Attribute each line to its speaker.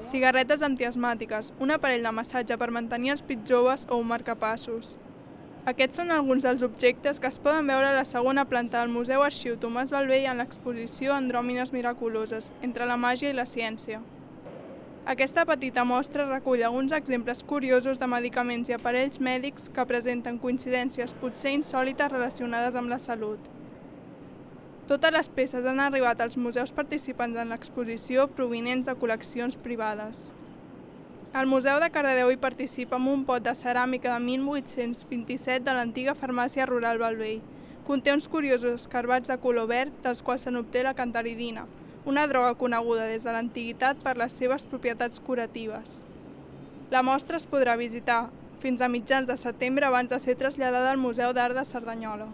Speaker 1: cigarretes antiasmàtiques, un aparell de massatge per mantenir els pits joves o un marcapassos. Aquests són alguns dels objectes que es poden veure a la segona planta del Museu Arxiu Tomàs Bellvei en l'exposició Andròmines miraculoses, entre la màgia i la ciència. Aquesta petita mostra recull alguns exemples curiosos de medicaments i aparells mèdics que presenten coincidències potser insòlites relacionades amb la salut. Totes les peces han arribat als museus participants en l'exposició provinents de col·leccions privades. El Museu de Cardedeu hi participa amb un pot de ceràmica de 1827 de l'antiga farmàcia rural Bellvei. Conté uns curiosos escarbats de color verd dels quals se n'obté la cantaridina, una droga coneguda des de l'antiguitat per les seves propietats curatives. La mostra es podrà visitar fins a mitjans de setembre abans de ser traslladada al Museu d'Art de Cerdanyola.